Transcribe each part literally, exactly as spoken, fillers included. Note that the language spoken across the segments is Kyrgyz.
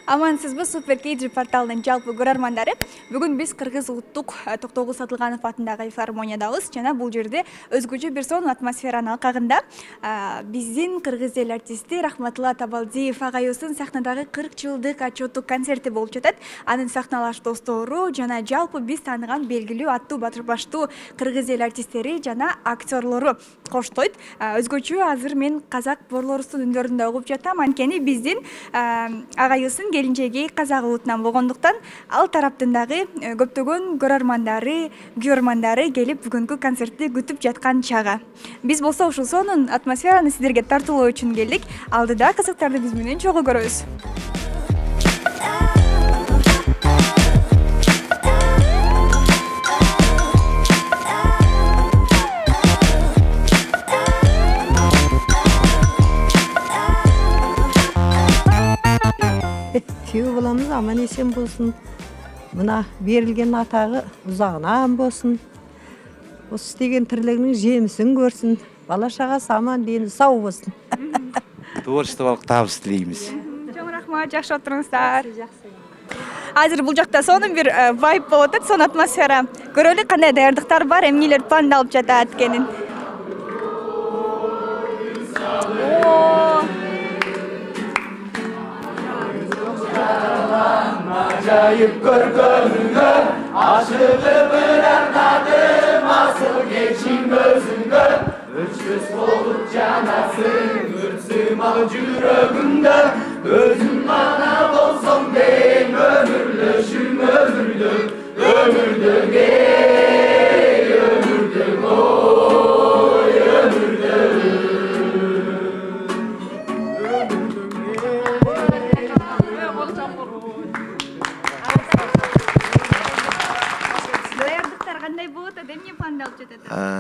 Амансызбы, Супер Кейджи порталынын жалпы көрөрмандары. Бүгүн биз Кыргыз улуттук Токтогул Сатылганов атындагы филармониядабыз жана бул жерде өзгөчө бир сонун атмосферанын алкагында биздин кыргыз эл артисти Рахматулла Табалдиев агайыбыздын сахнадагы кырк жылдык отчеттук концерти болуп жатат. Анын сахналаш достору жана жалпы биз тааныган белгилүү аттуу баштуу кыргыз эл артисттери жана актерлору коштойт. Өзгөчө азыр мен казак борлорубуздун үндөрүндө угуп жатам. Анткени биздин агайыбыздын келинчеги казак улутунан болгондуктан ал тараптын дагы көптөгөн көрөрмандары, күйөрмандары келип бүгүнкү концертти күтүп жаткан чагы. Биз болсо ушул сонун атмосфераны сиздерге тартуулоо үчүн келдик. Алдыда казактарды биз менен чогуу көрөбүз. Күйөө боламыз, аман эсен болсун. Мына берилген атагы узагынан болсун. Осы істеген тірлігінің жемісін көрсін. Бала шағасы аман, дені сау болсын. Творчестволук табыс тілейміз. Чоң рахмат, жакшы отуруңуздар. Азыр бул жакта сонун бир вайб болуп атат, сонун атмосфера. Көрөлү кандай даярдыктар бар, эмнелер пландалып жатат экенин. Acayip görgönüngö, aşığı bir arnadım, asıl geçin gözüngö. Ölçüs olup canasın, ürsüm al jürögüngö. Özüm bana bolsam deyim, ömürlöşüm ömürdüm, ömürdüm ey, ömürdüm oy, ömürdüm.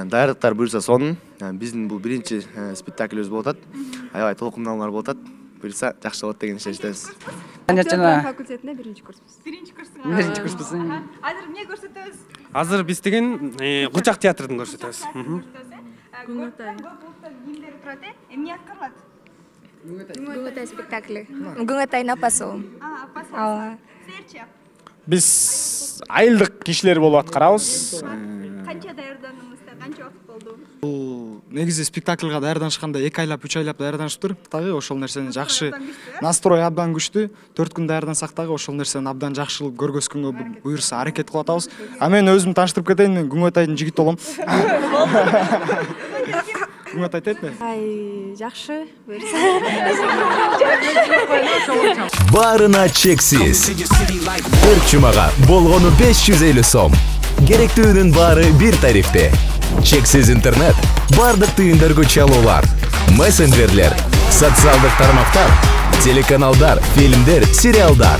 Даярдыктар буюрса сонун. Биздин бул биринчи спектаклибиз болуп атат. Аябай толкундалуулар болуп атат. Буюрса жакшы болот деген ишеничтебиз. Жана факультетинде биринчи курспуз. Биринчи курсуңуз. Биринчи курспуз. Азыр эмне көрсөтөбүз? Азыр биз деген Кучак театрын көрсөтөбүз. Күнгөтай. Кимдер турат э? Эмне аткарылат? Күнгөтай спектакли. Күнгөтайдын апасы. А, апасы. Ооба. Силерчи? Биз айылдык кишилер болуп аткарабыз. Канча даярдандыңыздар? Канча убакыт болду? Бул негизи спектакльга даярданышканда эки айлап, үч айлап даярданышыптыр. Дагы ошол нерсени жакшы настрой абдан күчтүү. төрт күн даярдансак дагы ошол нерсени абдан жакшы көргөзгөнгө буюрса аракет кылып атабыз. А мен өзүм тааныштырып кетейин, мен Күнгөтайдын жигити болом. Күнгөтай тетме? Ай, жакшы. Баарына чексиз. Бир чумага болгону беш жүз элүү сом. Керектүүнүн баары бир тарифте. Чексиз интернет, бардык түйүндөргө чалуулар, мессенджерлер, социалдык тармактар, телеканалдар, фильмдер, сериалдар.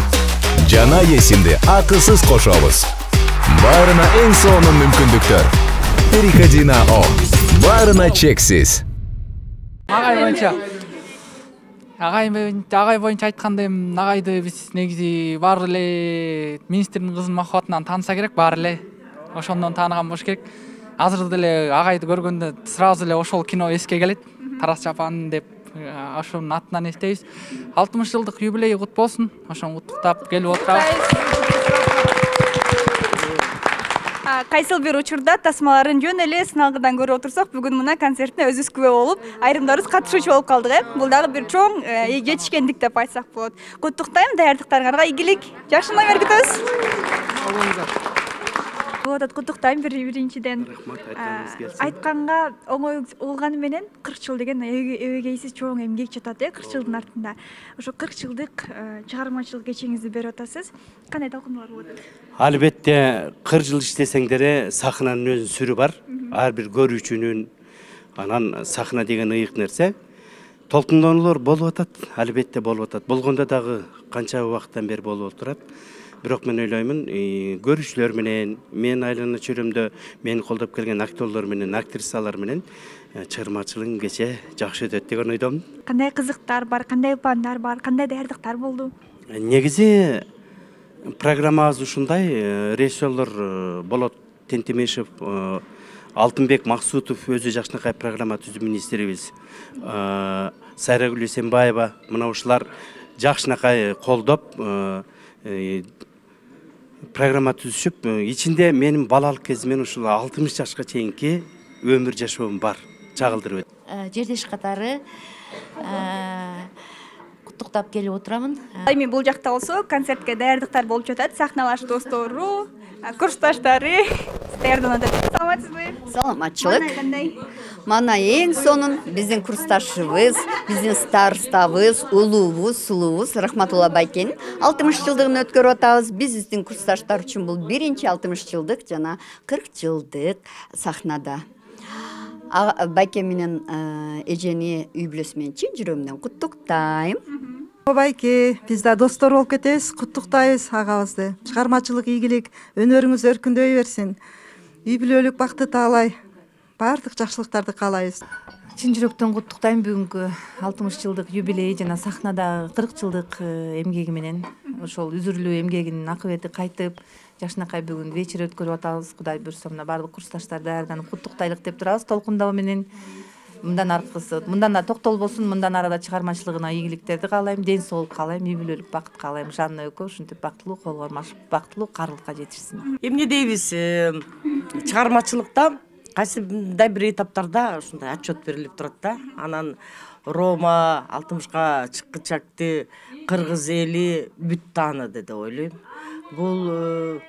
Жана эсимди акысыз кошобуз. Баарына эң сонун мүмкүндүктөр. Переходи на О. Баарына чексиз. Агай боюнча Агай боюнча агай боюнча айтканда эми агайды биз негизи баары эле министрдин кызынын махабатынан тааныса керек, баары эле ошондон тааныган болуш керек. Азыр деле агайды көргөндө сразу эле ошол кино эске келет. Тарас Чапан деп ошонун атынан эстейбиз. алтымыш жылдык юбилей кут болсун. Ошону куттуктап келип отурабыз. Кайсыл бир учурда тасмаларын жөн эле сыналгыдан көрүп отурсак, бүгүн мына концертине өзүбүз күбө болуп, айрымдарыбыз катышуучу болуп калдык, э. Бул дагы бир чоң жетишкендик деп айтсак болот. Куттуктайм, даярдыктарыңарга игилик. Жакшы номер күтөбүз. Вот, куттуктайм биринчиден. Айтканга оңой болгону менен кырк жыл деген эбегейсиз чоң эмгек жатат, э, кырк жылдын артында. Ошо кырк жылдык чыгармачылык кечиңизди берип атасыз. Кандай талкуулар болот? Албетте кырк жыл иштесеңдер сахнанын өзүнүн сүрү бар. Ар бир көрүүчүнүн анан сахна деген ыйык нерсе. Толкундонулор болуп атат, албетте болуп атат. Болгондо дагы канча убакыттан бери болуп турат. Бирок мен ойлоймун, көрүүчүлөр менен, мен айлана чөйрөмдө мени колдоп келген актерлор менен, актрисалар менен чыгармачылыгым кече жакшы өтөт деген ойдомун. Кандай кызыктар бар, кандай пландар бар, кандай даярдыктар болду? Негизи программабыз ушундай, режиссерлор болот Тентемешев, Алтынбек Максутов өзү жакшынакай программа түзүү министрибиз. Сайрагүл Эсенбаева, мына ушулар жакшынакай колдоп программа түзүшүп, ичинде менин балалык кезимден ушул алтымыш жашка чейинки өмүр жашоом бар, чагылдырып. Жердеш катары куттуктап келип отурамын. Эми бул жакта болсо концертке даярдыктар болуп жатат. Сахналаш достору, курсташтары даярданып атат. Саламатсызбы? Саламатчылык. Мана эң сонун биздин курсташыбыз, биздин старостабыз, улуубуз, сулуубуз Рахматулла Байкенин алтымыш жылдыгын өткөрүп атабыз. Биздин курсташтар үчүн бул биринчи алтымыш жылдык жана кырк жылдык сахнада. Байке менен эжени үй бүлөсү менен чын жүрөгүмдөн куттуктайм. Байке, биз да достор болуп кетебиз, куттуктайбыз агабызды. Чыгармачылык ийгилик, өнөрүңүз өркүндөй берсин. Үй бүлөлүк бакты таалай, баардык жакшылыктарды каалайбыз. Чын жүрөктөн куттуктайм бүгүнкү алтымыш жылдык юбилей жана сахнада кырк жылдык эмгеги менен. Ошол үзүрлүү эмгегинин акыбети кайтып, жакшынакай бүгүн вечер өткөрүп атабыз. Кудай буйрса мына баардык курсташтар даярданып куттуктайлык деп турабыз. Толкундоо менен мындан аркысы, мындан да токтолбосун, мындан арада чыгармачылыгына ийгиликтерди каалайм, ден соолук каалайм, үй бүлөлүк бакыт каалайм. Жанна экөө ушинтип бактылуу, кол кармашып, бактылуу карлыкка жетишсин. Эмне дейбиз, чыгармачылыкта кайсыдай бир этаптарда ушундай отчет берилип турат да. Анан Рома алтымышка чыккычакты кыргыз эли бүт тааныды деп ойлойм. Бул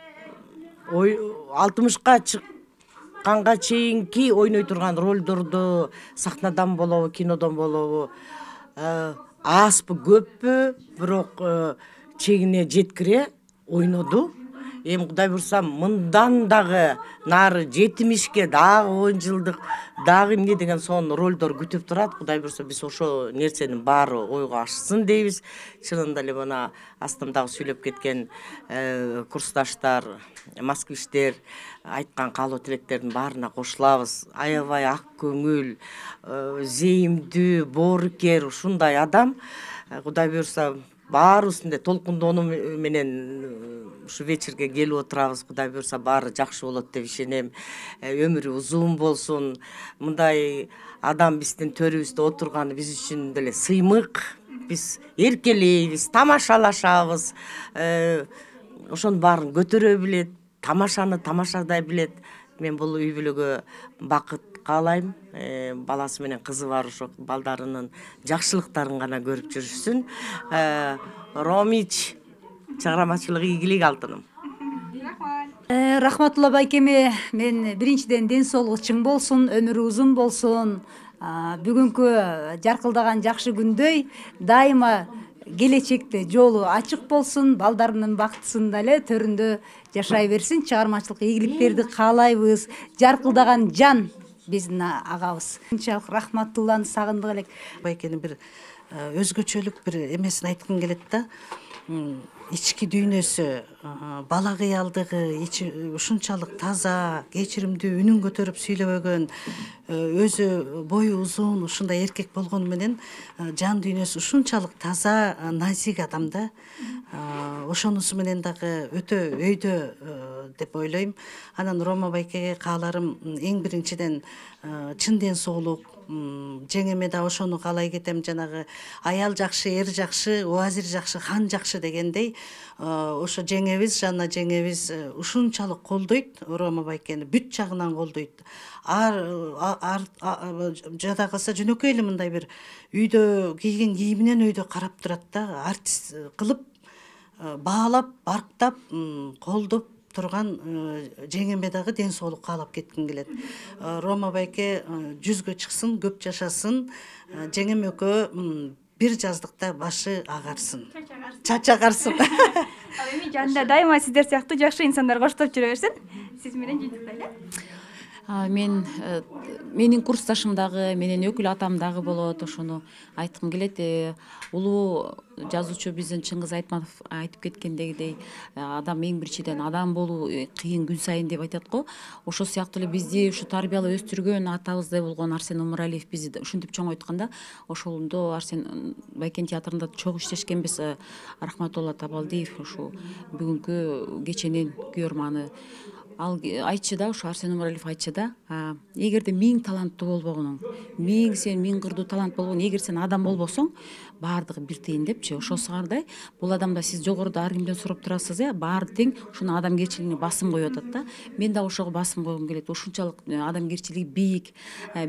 алтымышка чыкканга чейинки ойной турган ролдорду сахнадан болобу, кинодон болобу азбы көппү, бирок чегине жеткире ойноду. Эми Кудай буйрса мындан дагы нары жетимишке дагы он жылдык дагы эмне деген сонун ролдор күтүп турат. Кудай буйрса биз ошо нерсенин баары ойго ашсын дейбиз. Чынында эле мына астымдагы сүйлөп кеткен курсташтар, москвичтер айткан каалоо тилектердин баарына кошулабыз. Аябай ак көңүл, зейимдүү, боорукер ушундай адам. Кудай буйрса баарыбызды толкундоону менен ушу вечерге келип отурабыз. Кудай буйрса баары жакшы болот деп ишенем. Өмүрү узун болсун. Мындай адам биздин төрүбүздө отурганы биз үчүн деле сыймык. Биз эркелейбиз, тамашалашабыз. Ошонун баарын көтөрө билет, тамашаны тамашадай билет. Мен бул үй бүлөгө бакыт каалайм. Баласы менен кызы бар, ошо балдарынын жакшылыктарын гана көрүп жүрүшсүн. Ромич, чыгармачылык ийгилик алтыным. Рахматулла Байкеме мен биринчиден ден соолугу чың болсун, өмүрү узун болсун. Бүгүнкү жаркылдаган жакшы күндөй дайыма келечекте жолу ачык болсун, балдарынын бактысында эле төрүндө жашай берсин, чыгармачылык ийгиликтерди каалайбыз. Жаркылдаган жан биздин агабыз. Ынчалык Рахматулланы сагындык элек. Байкенин бир өзгөчөлүк бир эмесин айткым келет да. Ички дүйнөсү, бала кыялдыгы ушунчалык таза, кечиримдүү, үнүн көтөрүп сүйлөбөгөн, өзү бою узун, ушундай эркек болгону менен жан дүйнөсү ушунчалык таза, назик адам да. Ошонусу менен дагы өтө өйдө деп ойлойм. Анан Рома Байкеге кааларым эң биринчиден чын ден соолук, жеңеме да ошону каалай кетем. Жанагы аял жакшы, эр жакшы, убазир жакшы, хан жакшы дегендей, ошо жеңебиз, Жанна жеңебиз ушунчалык колдойт, Рома Байкени бүт жагынан колдойт. Ар жада калса жөнөкөй эле мындай бир үйдө кийген кийиминен өйдө карап турат да, артист кылып, баалап, барктап, колдоп турган жеңеме дагы ден соолук каалап кетким келет. Рома Байке жүзгө чыксын, көп жашасын, жеңем экөө бир жаздыкта башы агарсын, чач агарсын. Ал эми жанында дайыма сиздер сыяктуу жакшы инсандар коштоп жүрө берсин. Сиз менен жыйынтыктайлы. Мен менин курсташым дагы, менин өкүл атам дагы болот, ошону айткым келет. Улуу жазуучу биздин Чыңгыз Айтматов айтып кеткендегидей, адам эң биринчиден адам болуу кыйын күн сайын деп айтат го. Ошо сыяктуу эле бизди ушу тарбиялап өстүргөн атабыздай болгон Арсен Умаралиев бизди ушинтип чоңойтканда, ошондо Арсен Байкен театрында чогуу иштешкенбиз. Рахматулла Табалдиев ушу бүгүнкү кеченин күйөрманы ал айтчу да, ушу Арсен Умаралиев айтчу да, эгерде миң таланттуу болбогонуң, миң сен миң кырдуу талант болгон, эгер сен адам болбосоң, баардыгы бир тейин депчи. Ошосуңардай бул адамда сиз жогоруда ар кимден сурап турасыз, э, баары тең ушуну адамгерчилигине басым коюп атат да. Мен да ошого басым койгум келет. Ушунчалык адамгерчилиги бийик,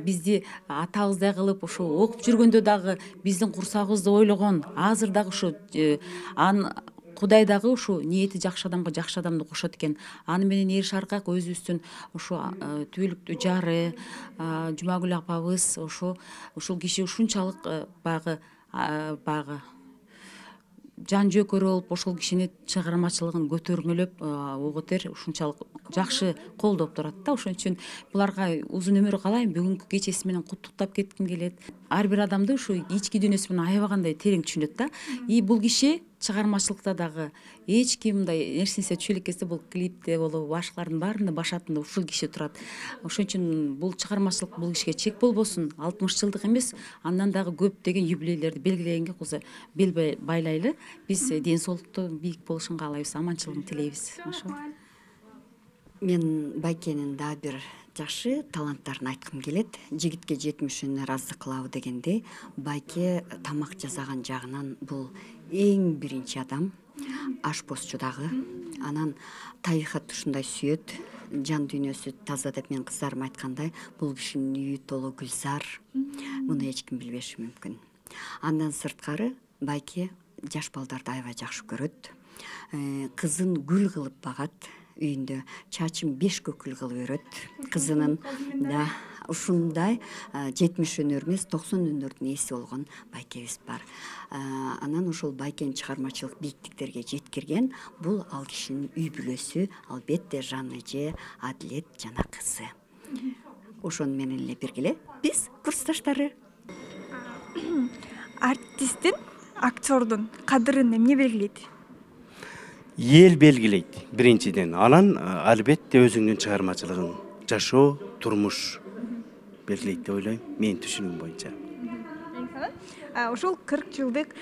бизди атабыздай кылып, ушу окуп жүргөндө дагы биздин курсагыбызды ойлогон, азыр дагы ушу ан Кудай дагы ушу ниети жакшы адамга жакшы адамды кошот экен. Аны менен Эр Шаркак өзүбүздүн ушу түбөлүктүү жары Жумагүл апабыз ошо ушул киши ушунчалык баягы баягы жан жөөкөрө болуп ошол кишини чыгармачылыгын көтөрмөлөп угутер ушунчалык жакшы колдоп турат да. Ошон үчүн буларга узун өмүр каалайм. Бүгүнкү кечеси менен куттуктап кетким келет. Ар бир адамды ушу ички дүйнөсү менен аябагандай терең түшүнөт да. И бул киши чыгармачылыкта дагы эч ким мындай нерсенсе түшө элеккенсе бул клипте болобу башкалардын баарынын башатында ушул киши турат. Ошон үчүн бул чыгармачылык бул кишиге чек болбосун. алтымыш жылдык эмес, андан дагы көп деген юбилейлерди белгилегенге кызы бел байлайлы. Биз ден соолукту бийик болушун каалайбыз, аманчылыгын тилейбиз. Ошо. Мен Байкенин дагы бир жакшы таланттарын айткым келет. Жигитке жетимишүүнө ыраазы кылабы дегенде, Байке тамак жасаган жагынан бул эң биринчи адам, ашпозчу дагы. Анан табигатты ушундай сүйөт, жан дүйнөсү таза деп мен кыздарым айткандай, бул кишинин үйү толу гүлзар. Муну эч ким билбеши мүмкүн. Андан сырткары Байке жаш балдарды аябай жакшы көрөт. Кызын гүл кылып багат. Үйүндө чачын беш көкүл кылып өрөт. Кызынын да ушундай жетимиш өнөр эмес, токсон өнөрдүн ээси болгон Байкебиз бар. Анан ошол Байкенин чыгармачылык бийиктиктерге жеткирген бул ал кишинин үй бүлөсү, албетте Жанна эже, Адилет жана кызы. Ошону менен эле биргеле биз курсташтары. Артисттин, актердун кадырын эмне белгилейт? Эл белгилейт биринчиден. Анан албетте өзүңдүн чыгармачылыгың, жашоо, турмуш белгилейт деп ойлойм, менин түшүнүгүм боюнча. Ушул кырк жылдык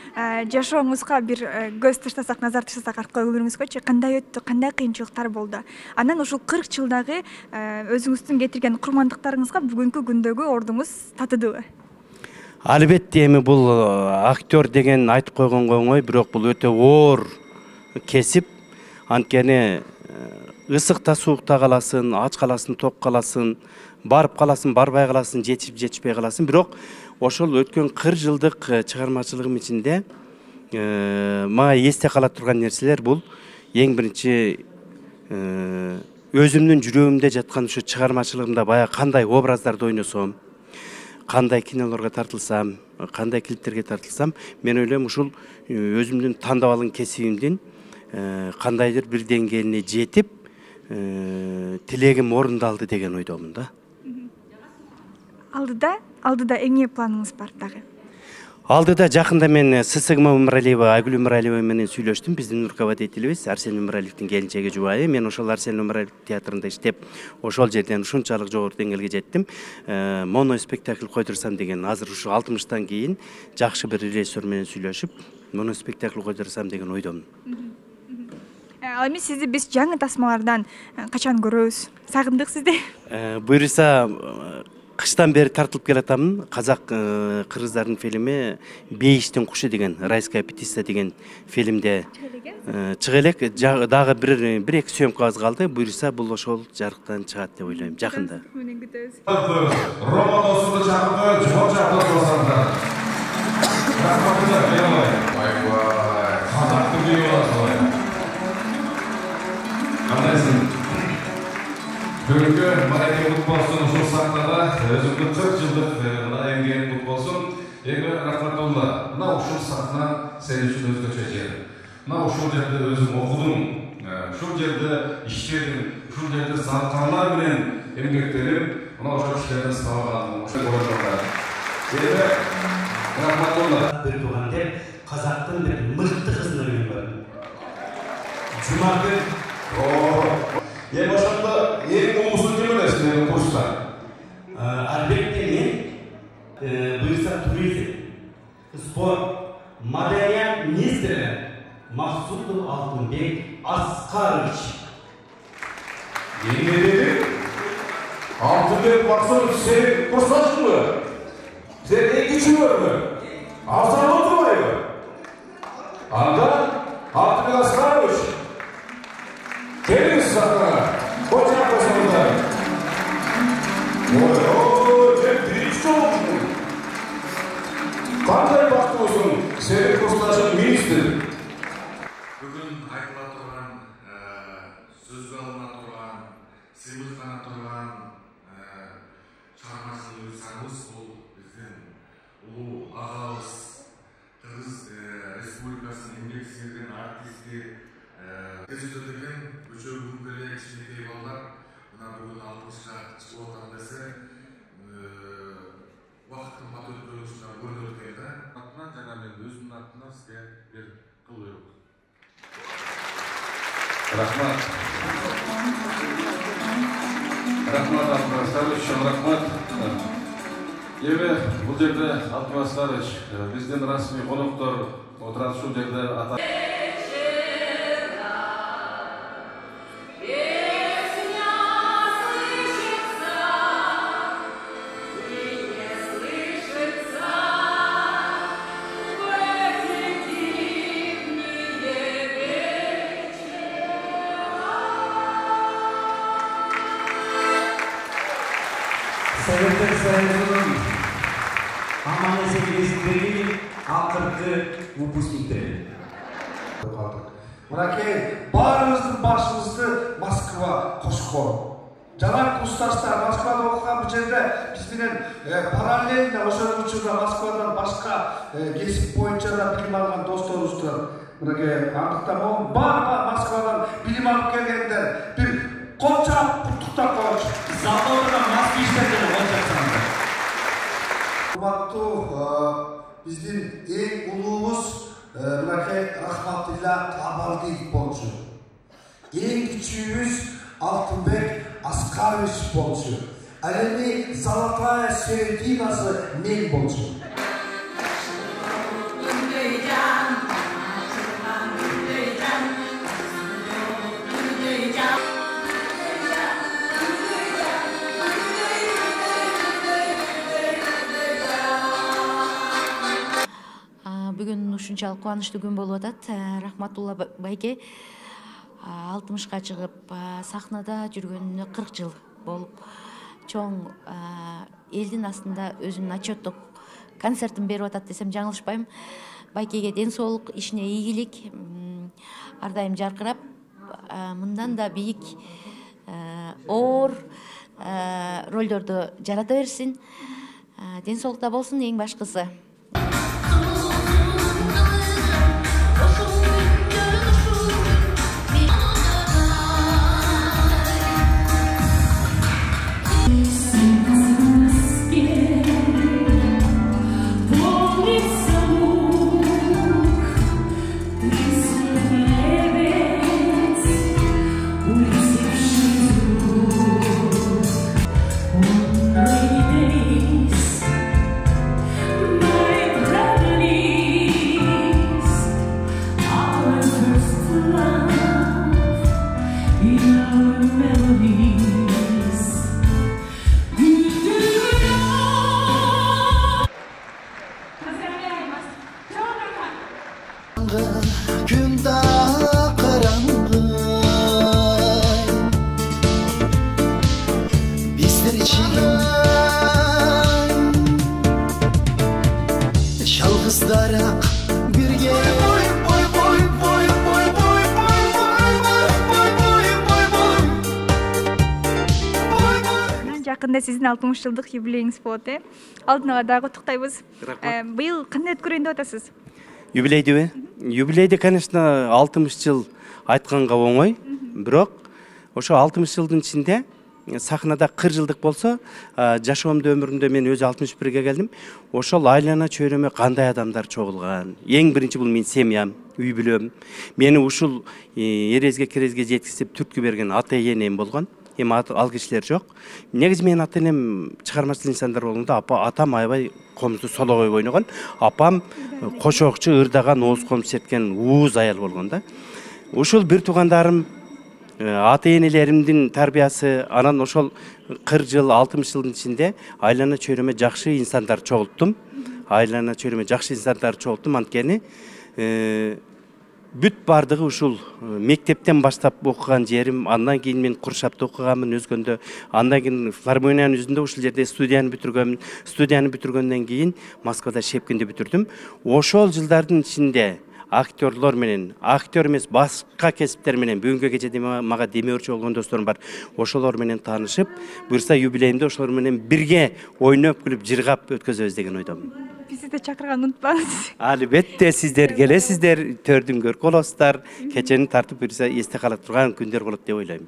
жашооңузга бир көз таштасак, назар таштасак арткы өмүрүңүзгөчү кандай өттү, кандай кыйынчылыктар болду? Анан ушул кырк жылдагы өзүңүздүн кетирген курмандыктарыңызга бүгүнкү күндөгү ордуңуз татыдыбы? Албетте эми бул актер деген айтып койгонго оңой, бирок бул өтө оор кесип. Анткени ысыкта суукта каласың, ач каласың, ток каласың, барып каласың, барбай каласың, жетип жетишпей каласың. Бирок ошол өткөн кырк жылдык чыгармачылыгым ичинде мага эсте кала турган нерселер бул эң биринчи өзүмдүн жүрөгүмдө жаткан ушу чыгармачылыгымда баягы кандай образдарды ойносом, кандай кинолорго тартылсам, кандай клиптерге тартылсам, мен ойлойм ушул өзүмдүн тандап алган кесибимдин кандайдыр бир деңгээлине жетип, тилегим орундалды деген ойдомун да. Алдыда, алдыда эмне планыңыз бар дагы? Алдыда жакында мен Сысыгыма Умаралиева, Айгүл Умаралиева менен сүйлөштүм. Биздин руководителибиз Арсен Умаралиевдин келинчеги жубайы. Мен ошол Арсен Умаралиев театрында иштеп, ошол жерден ушунчалык жогору деңгээлге жеттим. Моно спектакль койдурсам деген, азыр ушу алтымыштан кийин жакшы бир режиссер менен сүйлөшүп, моно спектакль койдурсам деген ойдомун. Ал эми сизди биз жаңы тасмалардан качан көрөбүз? Сагындык сизди. Буюрса кыштан бери тартылып келатамын. Казак кыргыздардын фильми Бейиштин кушу деген, Райская птица деген фильмде чыга элек. Дагы бир бир эки съемкабыз калды. Буюрса бул ошол жарыктан чыгат деп ойлойм жакында. Романосунду чакырып, жол жактан басаңдар. Айбай, казактын бири боласың. Кандайсың? Бүгүнкү мараке кут болсун, ушул сахнада өзүңдүн кырк жылдык мына эмгегиң кут болсун. Эң рахматулла. Мына ушул сахна сен үчүн өзгөчө жер. Мына ушул жерде өзүң окудуң, ушул жерде иштедиң, ушул жерде саркарлар менен эмгектенип, мына ошол кишилерден сабагандың. Ошол көргөндө. Эми рахматулла. Бир тууган деп казактын бир мыкты кызына үйленген. Жумагүл. Эми ошондо эң улуусун ким элес менин курста? Албетте мен буюрса туризм, спорт, маданият министри Максутов Алтынбек Аскарович. Еңгедегі Алтынбек Бақсынов сен курсташың мы? Сен ең күші көрмі? Арзан отырмайы? Анда Алтынбек Асқарович келіңіз сахнаға. Қош жақпасыңыздар. Ой, ой, сен бірінші жолың. Қандай бақтылысың? Сен курсташың министр. Бүгін айтыла тұрған, сөзге алына тұрған, сыйлыққа тұрған шығармашылық жасаңыз, ол біздің ұлы ағамыз, Қырғыз Республикасының еңбек сіңірген артисті, көзөтөлгөн көчө күнгөле кичинекей балдар мына бүгүн алтымышка чыгып атам десе убакыттын бат өткөрүшүнөн көрүнүп өткөн да. Атынан жана мен өзүмдүн атымдан сизге бир кыл буйрук. Рахмат. Рахмат Алтынбек Асқарович, рахмат. Эми бул жерде Алтынбек Асқарович, биздин расмий коноктор отурат ушул жерде ата Советтер Союзунун аман-эсен кезиндеги акыркы выпускниктери. Мынакей баарыбыздын башыбызды Москва кошкон. Жана курсташтар Москвада окуган бул жерде биз менен параллельно ошол учурда Москвадан башка кесип боюнча да билим алган досторубуз турат. Мынакей андыктан могу баары Москвадан билим алып келгендер бир Конча куттуктап коелучу. Заводда москвичтерден кончаксаңдар. Урматтуу биздин эң улуубуз мынакей Рахматилла Кабалдиев болчу. Эң кичүүбүз Алтынбек Аскарович болчу. Ал эми золотая серединасы мен болчу. Бүгүн ушунчалык кубанычтуу күн болуп атат. Рахматулла байке алтымышка чыгып сахнада жүргөнүнө кырк жыл болуп, чоң элдин астында өзүнүн отчеттук концертин берип атат десем жаңылышпайм. Байкеге ден соолук, ишине ийгилик, ар дайым жаркырап, мындан да бийик оор ролдорду жарата берсин. Ден соолукта болсун эң башкысы. Жакында сиздин алтымыш жылдык юбилейиңиз болот, э? Алдын ала дагы куттуктайбыз. Быйыл кандай өткөрөйүн деп атасыз? Юбилейдиби? Юбилейди, конечно, алтымыш жыл айтканга оңой, бирок ошо алтымыш жылдын ичинде сахнада кырк жылдык болсо, жашоомдо өмүрүмдө мен өзү алтымыш бирге келдим. Ошол айлана чөйрөмө кандай адамдар чогулган. Эң биринчи бул менин семьям, үй бүлөм. Мени ушул эрезге керезге жеткизип түрткү берген ата энем болгон. Эми ал кишилер жок. Негизи менин ата энем чыгармачыл инсандар болгондо, атам аябай комузду сологой ойногон, апам кошокчу, ырдаган, ооз комуз черткен ууз аял болгон да. Ушул бир туугандарым ата энелеримдин тарбиясы, анан ошол кырк жыл, алтымыш жылдын ичинде айлана чөйрөмө жакшы инсандар чогулттум. Айлана чөйрөмө жакшы инсандар чогулттум, анткени бүт бардыгы ушул мектептен баштап окуган жерим, андан кийин мен Куршапта окуганмын өзгөндө, андан кийин филармониянын өзүндө ушул жерде студияны бүтүргөнмүн. Студияны бүтүргөндөн кийин Москвада Шепкинде бүтүрдүм. Ошол жылдардын ичинде актерлор менен, актер эмес башка кесиптер менен бүгүнкү кечеде мага демөөрчү болгон досторум бар. Ошолор менен таанышып, буюрса юбилейимде ошолор менен бирге ойноп, күлүп, жыргап өткөзөбүз деген ойдомун. Бизди да чакырганды унутпаңыз. Албетте сиздер келесиздер, төрдүн көркү болосуздар. Кечени тартып буюрса эсте кала турган күндөр болот деп ойлойм.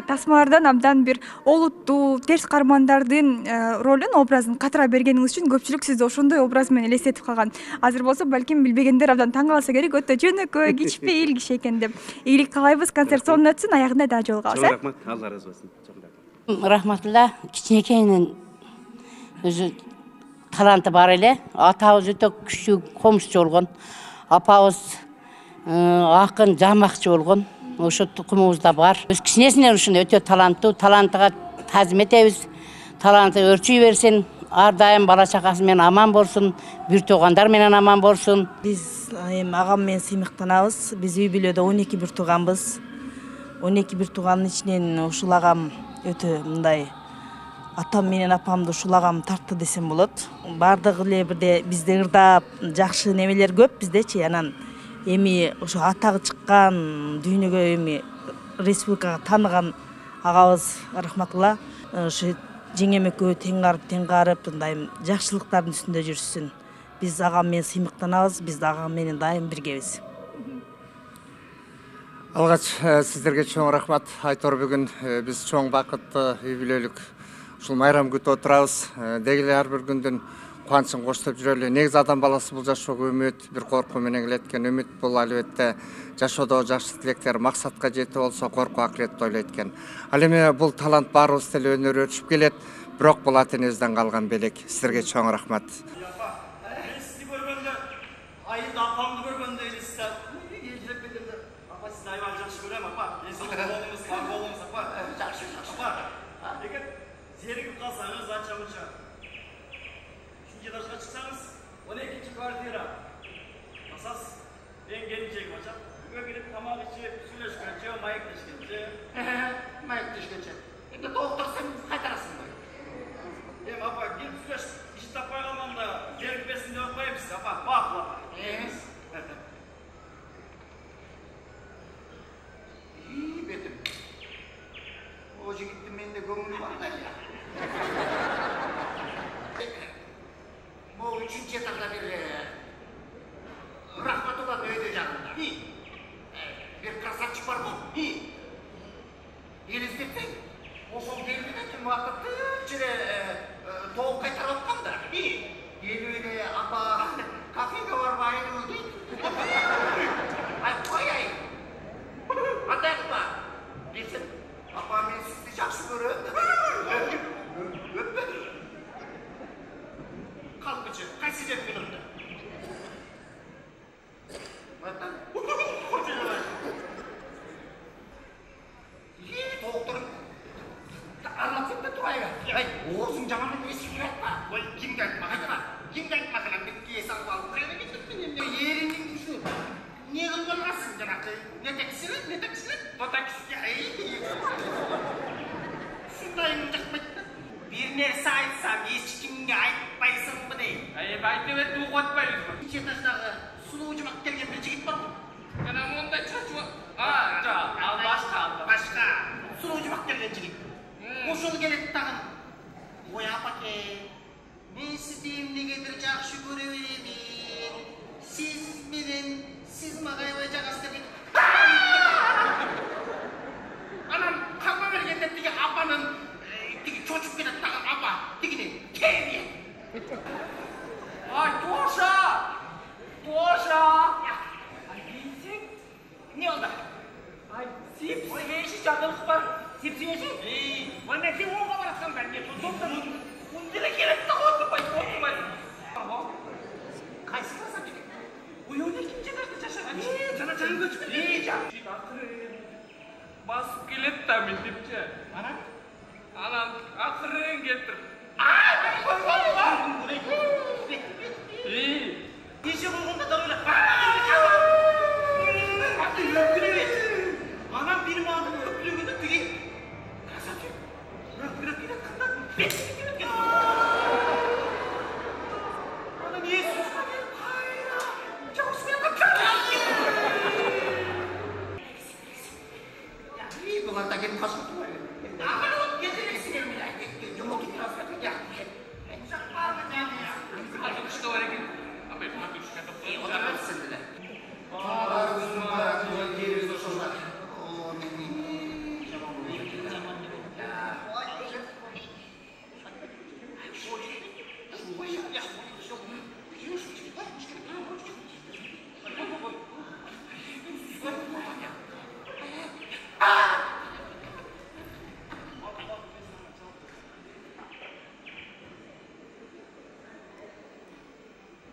Тасмалардан абдан бир олуттуу, терс кармандардын ролун, образын катыра бергениңиз үчүн көпчүлүк сизди ошондой образ менен элестетип калган. Азыр болсо балким билбегендер абдан таң калса керек, өтө жөнөкөй, кичпейил киши экен деп. Ийгилик каалайбыз, концерт сонун өтсүн, аягында дагы жолугабыз. Рахмат, Алла ыраазы болсун. Рахматулла, кичинекейинен өзү таланты бар эле. Атабыз өтө күчтүү комузчу болгон. Апабыз акын, жамакчы болгон. Ошо тукумубузда бар. Өз кичинесинен ушундай өтө таланттуу, талантыга тазим этебиз. Таланты өрчүй берсин, ар дайым бала чакасы менен аман болсун, бир туугандар менен аман болсун. Биз эми агам менен сыймыктанабыз. Биз үй бүлөдө он эки бир тууганбыз. он эки бир туугандын ичинен ушул агам өтө мындай атам менен апамды ушул агам тартты десем болот. Бардыгы эле бирде бизде ырдап, жакшы немелер көп биздечи. Анан эми ошо атагы чыккан, дүйнөгө эми республикага тааныган агабыз рахматулла ошо жеңем экөө тең карып, тең карып, мындай жакшылыктардын үстүндө жүрсүн. Биз агам менен сыймыктанабыз, биз агам менен дайым биргебиз. Алгач сиздерге чоң рахмат. Айтор бүгүн биз чоң бакыттуу юбилейлик ушул майрам күтүп отурабыз. Деги эле ар бир күндүн кубанычын коштоп жүрөлү. Негизи адам баласы бул жашоого үмүт, бир коркуу менен келет экен. Үмүт бул албетте жашоодо жакшы тилектер максатка жетип болсо коркуу акыретти ойлойт экен. Ал эми бул талант баарыбыз деле өнөр өчүп келет. Бирок бул ата энебизден калган белек. Сиздерге чоң рахмат. Сизди көргөндө, айылда апамды көргөндө элестет. Ежеп келгенде, апа сизди аябай жакшы көрөм, апа. Эсиңиз болуңуз, сак болуңуз, апа. Жакшы, жакшы. Апа, эгер зеригип калсаңыз, анча-мынча жашка чыксаңыз, он экинчи квартира. Асас, эң келинчегим ачат. Үйгө кирип тамак ичип, сүйлөшкөнчө, маектешкенче. Маектешкенче. Эми доктурсаң кайтарасың да. Эми апа, кирип сүйлөш, иш таппай калганда, зерикпесин деп койбуз, апа, бакылап. Эмес. И, бетим. О жигиттин менде көңүлү бар да. Бул үчүнчү этапта бир рахматулла өйдө жагында. Бир красавчик бар го. Элестетсең, ошол келбеден убакытты эле тоок кайтарып аткан да. Элбеде апа кафеге барбайбы дейт. Ай, кояй. Кандай кылма? Келсем, апа мен сизди жакшы көрөм. Өппөдү. Kalkıcı, kaç sıcak günümde? Vatan, kocaman var. İyi, doktorum. Anlatsın da tuğayla. Ay, oğuzun camanı bir şey yapma. Oy, kim geltme, hayma. Kim geltme falan, bir kiyesi alıp alıp. Kayla gittim benim. Yerinin düşün. Niye kılgınlasın canakı? Ne teksili, ne teksili? O teksili, ay. Şundayım, çakmak. Bir nerse aytsam, hiç kimge aytpayсың mı deyim? Ayıp aytып etip uğratpayız mı? İki etaştағы sulu ucumak kelgen bir жигит бар mı? Canım onda çaçı var. Aa, жоқ, al başka aldı. Başka. Sulu ucumak kelgen жигит. Ошол келет тагын. Ой, апаке, мен сизди эмнегедир жакшы көрө беремин. Сиз менен, сиз мага аябай жагасыз деп. Анан калма бергенде тиги апанын тиги чочуп кетет тагын апа, тигини кемие. Ай, Тоша! Тоша! Ай, бейсең? Не олда? Ай, сеп-сепеші жадылық бар. Сеп-сепеші? Ей, ой, мен сен оңға барасқан бәр. Не, тоқтан, ұндыра келет та отырмай, отырмай. Қайсы барасам жеке? Ой, он екінші жадашты жашаған. Ей, жана жаңын көчіп. Ей, жа. басып келет да мектепче. Анан? Анан акырын келтирип. Неше болгондо да ойлап. Анан бир маңын өкүлөгүндө тиги. Красавчик. Өкүлөп кеткенде бет кеткен. Анан Иисус келип кайра. Жаусмелге Я, и булар да келип калышат. Аман от кетирексиңер менен кетти. Жомот кирасат. Я. Жакпармы жаны? Альбом что бар экен? Абай бuna düşkən toplayın. Oturmasın dedi. Bağlar uzun var, yol geri zorlar.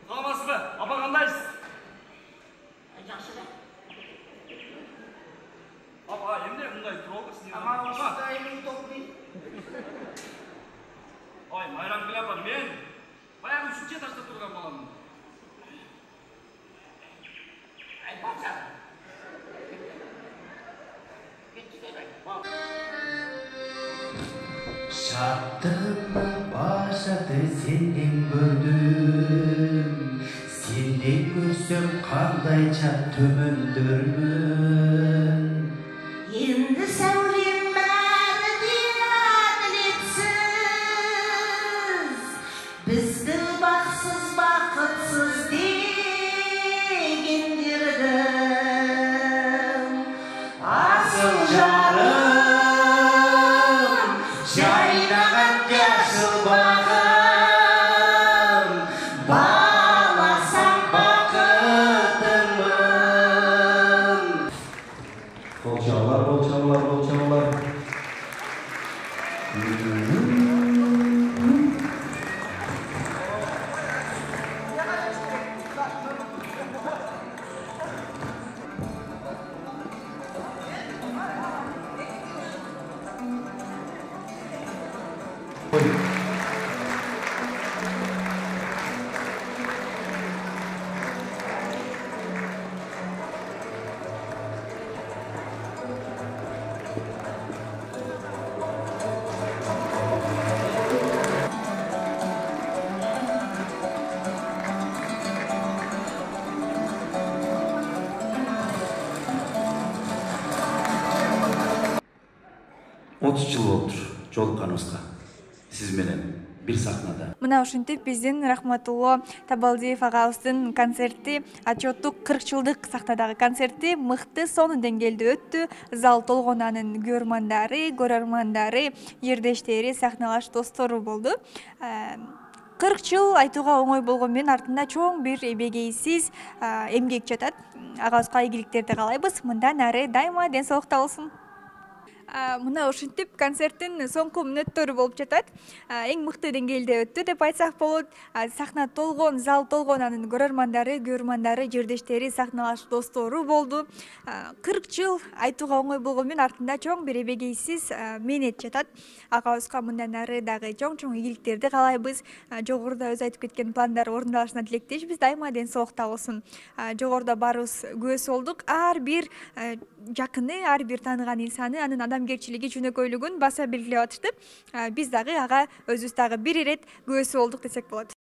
Саламатсызбы? Апа кандайсыз? Жакшы да. Апа, эмне мындай туруп алыпсыз? Ама ушундай эле удобный. Ой, Майрамкүл апа, мен баягы үчүнчү этажда турган баламын. Айтпакчы. Шаттыкны башаты сенден көрдүм, сенден көрсөм кандайча төмөндөрмүн. Енді сәулем бәрі әділетсіз, бізді бақсыз бақытсыз дегендердің асыл жарым, жайнаған жасыл бағым, баласам бақытымын. Болчалар, болчалар, болчалар. отуз жыл болуптур жолукканыбызга сиз менен бир сахнада. Мына ушинтип биздин Рахматулло Табалдиев агабыздын концерти, отчеттук кырк жылдык сахнадагы концерти мыкты сонун деңгээлде өттү. Зал толгон, анын көрөрмандары, көрөрмандары, жердештери, сахналаш достору болду. кырк жыл айтууга оңой болгон менен артында чоң бир эбегейсиз эмгек жатат. Агабызга ийгиликтерди каалайбыз. Мындан ары дайыма ден соолукта болсун. Мына ушинтип концерттин соңку мүнөттөрү болуп жатат. Эң мыкты деңгээлде өттү деп айтсак болот. Сахна толгон, зал толгон, анын көрөрмандары, көрөрмандары, жердештери, сахналаш достору болду. кырк жыл айтууга оңой болгон менен артында чоң бир эбегейсиз мээнет жатат. Агабызга мындан ары дагы чоң-чоң ийгиликтерди каалайбыз. Жогоруда өзү айтып кеткен пландар орундалышына тилектешпиз. Дайыма ден соолукта болсун. Жогоруда баарыбыз күбөсү болдук. Ар бир жакыны, ар бир тааныган инсаны, анын адамгерчилиги, жөнөкөйлүгүн баса белгилеп атышты. Биз дагы ага өзүбүз дагы бир ирет күбөсү болдук десек болот.